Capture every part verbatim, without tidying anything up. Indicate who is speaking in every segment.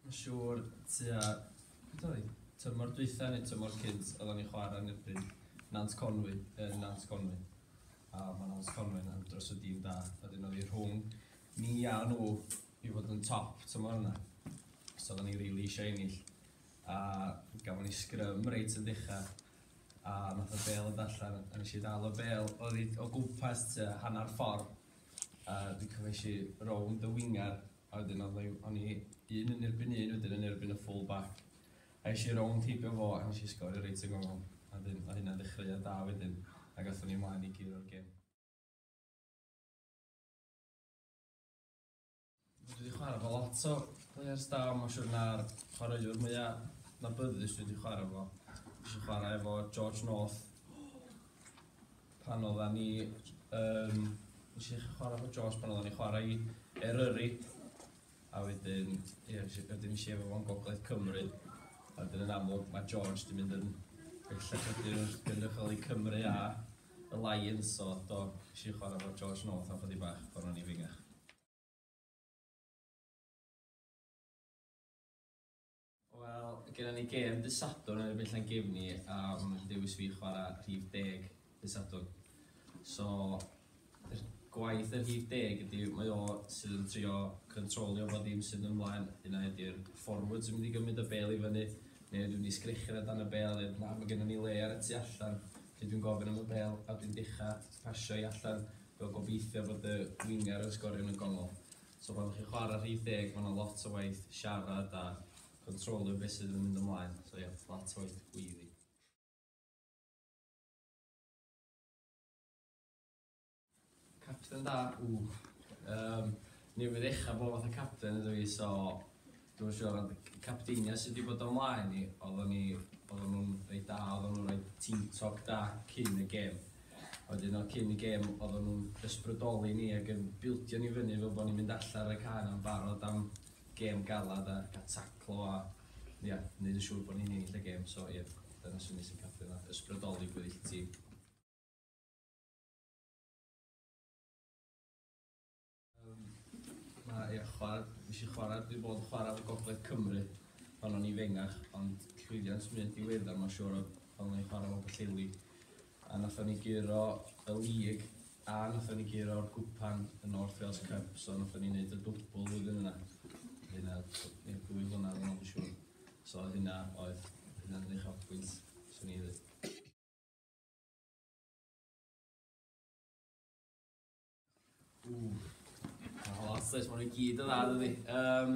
Speaker 1: Mae'n siŵr tua, beth oedd hi? Tymor dwytha neu tymor cynt, oedden ni'n chwarae yn erbyn Nant Conwy, yn Nant Conwy. A mae Nant Conwy yn andros o dîm da. A dyn oedd hi rhwng ni a nhw i fod yn top tymor yna. So oedden ni rili really eisiau ennill. A gafon ni sgrym reit yn dechrau. A nath y bêl yn allan, a nes i ddal y bêl, oedd hi o gwmpas tua hanner ffordd. A dwi'n cofio i rownd y winger, a wedyn o'n i un yn erbyn un, wedyn yn erbyn y full back. A es i rownd heibio fo, a nes i sgorio reit yn gongol. A wedyn, oedd hynna'n ddechreuad da wedyn, a gathon ni ymlaen i guro'r gêm. Dwi wedi chwarae efo lot o players da, mae'n siŵr na'r chwaraewr mwyaf adnabyddus dwi wedi chwarae efo. Nes i chwarae efo George North pan oeddan ni, um, nes i chwarae efo George pan oeddan ni chwarae i Eryri. A wedyn, ie, wedyn nes i efo fo'n Gogledd Cymru. A wedyn yn amlwg mae George di mynd yn bellach wedyn wrth gynrychioli Cymru a y Lions, so do, nes i chwarae efo George North am chydig bach pan o'n i fengach. Wel, genna ni gêm dydd Sadwrn yn erbyn Llangefni a maen nhw'n dewis fi chwarae rhif deg dydd Sadwrn. So, yr gwaith yr rhif deg ydy mae o sydd yn trio controlio fo ddim sydd ymlaen. Yna ydy'r forwards yn mynd i gymryd y bêl i fyny, neu dwi'n mynd i sgrechian o dan y bêl, neu na, mae gennym ni le ar y tu allan. Felly dwi'n gofyn am y bêl a dwi'n dechrau pasio i allan, fel gobeithio bod y winger yn sgorio yn y gongol. So pan chi'n chwarae rhif deg, mae yna lot o waith siarad a controlio beth sydd yn mynd ymlaen. So ie, yeah, lot o waith gweiddi. Capten da, ww. Um, newydd ddechrau bod fatha capten ydw i, so dwi'n siŵr, ond y capteinia sydd wedi bod o mlaen i, oedden ni, oedden nhw'n reit da, oedden nhw'n rhoi team talk da cyn y gêm. Wedyn o cyn y gêm, oedden nhw'n ysbrydoli ni ac yn bildio ni fyny fel bod ni'n mynd allan ar y cae yn barod am gêm galad a gael taclo a ia, yeah, wneud yn siŵr bod ni'n ennill y gêm. So ie, yeah, dyna swn i sy'n capten da, ysbrydoli gweddill y tîm. Um, ma, ie, chwarae, nes i chwarae, dwi wedi bod yn chwarae efo Gogledd Cymru pan o'n i fengach, ond llwyddiant mwya diweddar, mae'n siŵr oedd pan o'n i'n chwarae efo Pwllheli. A nathon ni guro y lig a nathon ni guro'r gwpan y North Wales Cup, so nathon ni wneud y dwbl flwyddyn yna. Hynna, ie, dwy flynedd yn ôl, dwi'n siŵr. So hynna oedd, hynna'n uchafbwynt, swn i ddweud. Ww, mae lot oes, maen nhw i gyd yn dda, dydi. Um,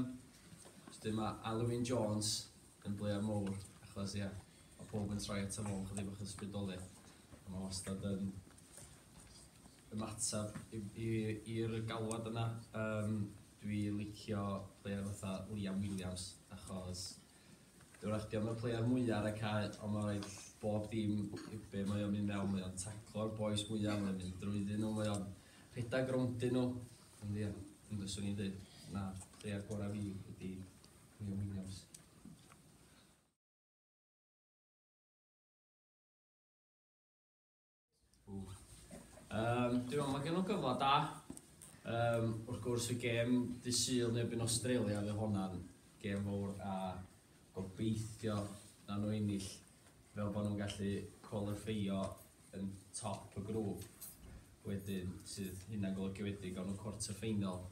Speaker 1: so mae Alwyn Jones yn player mowr, achos ie, mae pob yn troi ato fo, chydig bach o ysbrydoliaeth. A mae wastad yn ymateb i'r galwad yna. Um, dwi licio player fatha Liam Williams, achos dwi'n dio'm y player mwyaf ar y cae, ond mae'n rhaid bob dim i be mae o'n mynd mewn, mae o'n taclo'r boys mwyaf, mae o'n mynd drwyddyn nhw, mae o'n rhedeg rowndyn nhw. Ond ie, ond fyswn i'n dweud, na, player gorau fi ydy Liam Williams. Ww. Um, dwi'n meddwl mae gen nhw gyfle da. Um, wrth gwrs y gêm dydd Sul yn erbyn Australia, fydd hwnna'n gêm fawr a gobeithio na nhw ennill fel bod nhw'n gallu qualifio yn top y grŵp wedyn, sydd hynna'n golygu wedyn gawn nhw quarter final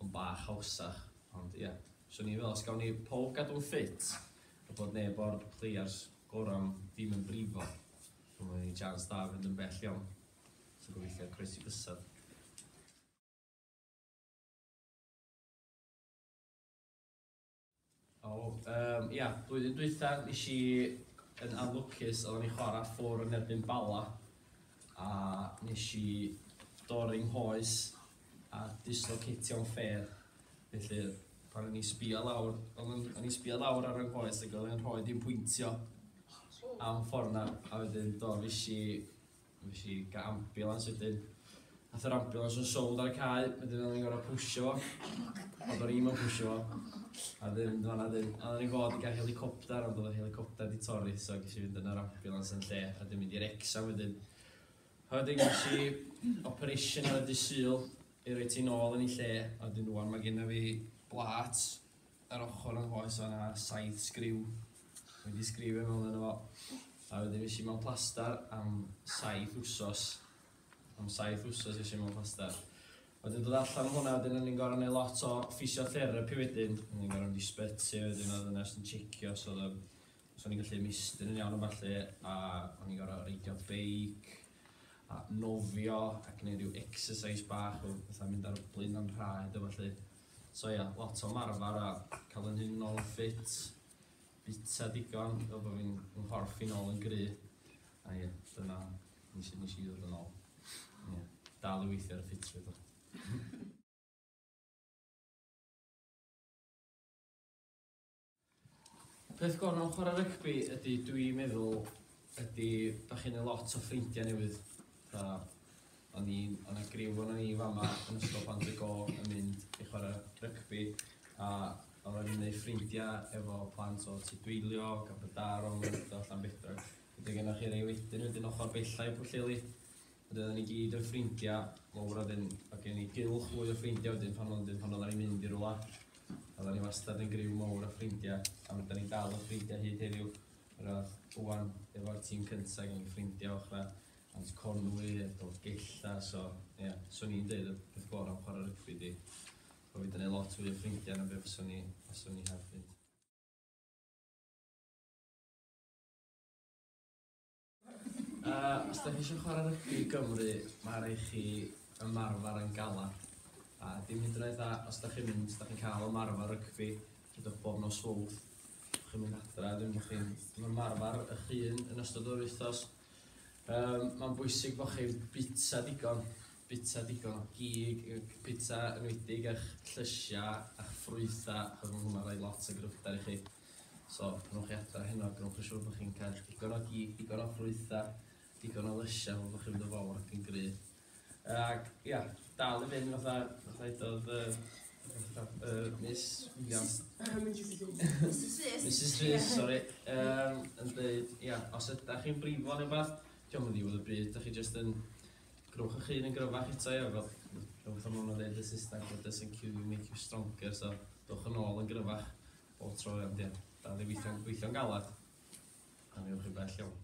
Speaker 1: yn bach hawsach. Ond ie, yeah, swn i'n meddwl os gawn ni pob gadw'n ffit a bod neb o'r players gorau ddim yn brifo, mae'n ni chance da fynd yn bell iawn. So gobeithio croesi bysedd. O, um, ia, blwyddyn dwytha nes i yn anlwcus, oedden ni chwarae ffwr yn erbyn Bala, a nes i dorri nghoes a dislocatio'n ffêr. Felly, pan o'n i sbio lawr, o'n i'n sbio lawr ar yng nghoes ac oedd yn rhoi dim pwyntio am ffordd na, a wedyn do, fes i, fes i gael ambulance wedyn. Nath yr ambulance yn sownd ar y cae, wedyn o'n i'n gorfod pwsio fo, ond o'n i'm yn pwsio fo. A ddim mynd fan'na wedyn. A oedden ni fod i gael helicopter, ond oedd yr helicopter di torri, so ges i fynd yn yr ambulance yn lle, a wedyn mynd i Wrecsam wedyn. A wedyn ges i operation ar y dydd Sul i roi ti nôl yn ei lle, a wedyn rŵan mae genna fi blât ar ochr yng nghoes o'na saith sgriw wedi sgriwio mewn yno fo. A wedyn fues i mewn plastar am saith wsos. Am saith wsos fues i mewn plastar. Wedyn dod allan o hwnna, wedyn o'n i'n gorfod neud lot o physiotherapy wedyn. O'n i'n gorfod mynd i sbyty wedyn, oedd yna yn checio os oedd os o'n i'n gallu ymestyn yn iawn o falle, a o'n i'n gorfod reidio beic, a nofio, a gwneud rhyw exercise bach o fatha mynd ar blaen a'n rhaed a falle. So ia, lot o marfer a cael yn hun nôl yn ffit, bita digon, fel bod fi'n nghorff i nôl yn gry. A ie, dyna nes i, nes i ddod yn ôl. Ie, dal i weithio ar y ffitrwydd o. Peth gorau mewn chwarae rygbi ydy, dwi'n meddwl, ydy da chi'n neud lot o ffrindiau newydd. Fatha, o'n i'n, o'n 'na griw o'n ni fama yn Ysgol Pant y Go yn mynd i chwarae rygbi, a oedden ni'n neud ffrindiau efo plant o Tudweiliog, Aberdaron, Llandudno, Llanbedrog. Wedyn gennoch chi rei wedyn wedyn ochr bella i Pwllheli. Wedyn oedden ni gyd yn ffrindiau mawr wedyn, a gen i gylch fwy o ffrindiau wedyn pan oedden pan oedden ni'n mynd i rywle. Oedden ni wastad yn griw mawr o ffrindiau, a wedyn ni'n dal yn ffrindiau hyd heddiw. Roedd ŵan efo'r tîm cyntaf gen i ffrindiau ochr Ant Conwy, Dolgella, so ie, yeah, swn i'n deud y peth gorau am chwarae rygbi di bod fi wedi gwneud lot fwy o ffrindiau na be fyswn i, fyswn i heb fynd. Uh, os da chi eisiau chwarae rygbi i Gymru, mae rhaid chi ymarfer yn galad. A dim hyd yn oed dda, os da chi'n mynd, os da chi'n cael ymarfer rygbi, dydwch bob nos Fawrth, chi'n mynd adra, ddim bod chi'n ymarfer eich hun yn ystod o'r wythnos. Um, mae'n bwysig bod chi'n bita digon, bita digon o gig, bita enwedig eich llysiau, eich ffrwythau, achos mae hwnna'n rhoi lot o gryfder i chi. So, pan ewch chi adra heno, gwnewch yn siŵr bod chi'n cael digon o gig, digon o ffrwythau, digon o lysiau, fel bod chi'n mynd yn fawr ac yn gry. Ac ia, dal i fynd fatha, fatha udodd uh, uh, Miss Williams.
Speaker 2: Missus Rhys.
Speaker 1: Missus Rhys, sori, um, yn dweud, ia, os ydach chi'n brifo neu beth, dio'm yn ddiwedd y byd, dach chi jyst yn grwch eich hun yn gryfach eto, ia, fel, fel fatha ma' nhw'n dweud yn Saesneg, what doesn't kill you make you stronger, so dowch yn ôl yn gryfach bob tro, ond ia, dal i weithio'n weithio'n galad, a mi ewch chi bell iawn.